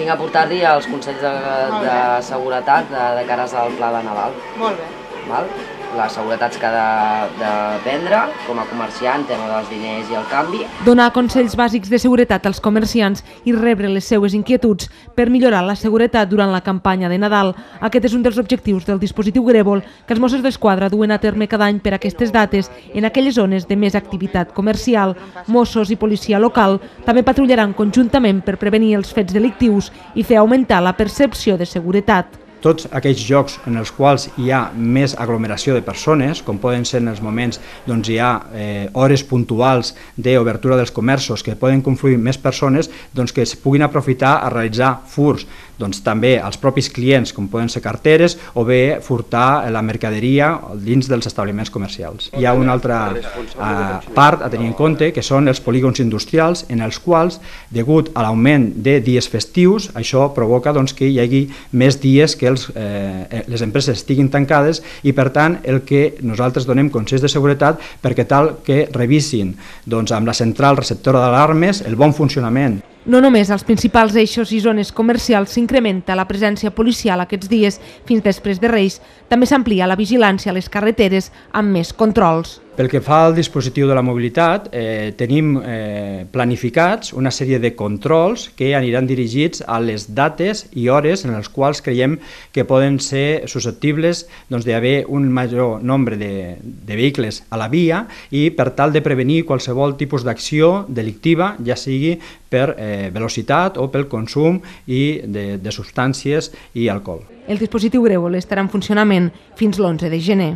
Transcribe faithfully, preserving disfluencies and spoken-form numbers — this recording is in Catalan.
vinc a portar-li els consells de, de seguretat de, de cares al pla de Nadal. Molt bé. Val? Les seguretats que ha de, de prendre com a comerciant, tema dels diners i el canvi. Donar consells bàsics de seguretat als comerciants i rebre les seues inquietuds per millorar la seguretat durant la campanya de Nadal. Aquest és un dels objectius del dispositiu Grèvol que els Mossos d'Esquadra duen a terme cada any per aquestes dates en aquelles zones de més activitat comercial. Mossos i policia local també patrullaran conjuntament per prevenir els fets delictius i fer augmentar la percepció de seguretat. Tots aquells llocs en els quals hi ha més aglomeració de persones, com poden ser en els moments doncs hi ha eh, hores puntuals d'obertura dels comerços que poden confluir més persones, doncs que es puguin aprofitar a realitzar furts, doncs també als propis clients, com poden ser carteres, o bé furtar la mercaderia dins dels establiments comercials. Hi ha una altra eh, part a tenir en compte, que són els polígons industrials, en els quals, degut a l'augment de dies festius, això provoca doncs, que hi hagi més dies que els, eh, les empreses estiguin tancades i, per tant, el que nosaltres donem consells de seguretat perquè tal que revisin doncs, amb la central receptora d'alarmes el bon funcionament. No només als principals eixos i zones comercials s'incrementa la presència policial aquests dies fins després de Reis, també s'amplia la vigilància a les carreteres amb més controls. Pel que fa al dispositiu de la mobilitat, eh, tenim eh, planificats una sèrie de controls que aniran dirigits a les dates i hores en les quals creiem que poden ser susceptibles doncs, d'haver un major nombre de, de vehicles a la via i per tal de prevenir qualsevol tipus d'acció delictiva, ja sigui per eh, velocitat o pel consum i de, de substàncies i alcohol. El dispositiu Grèvol estarà en funcionament fins l'onze de gener.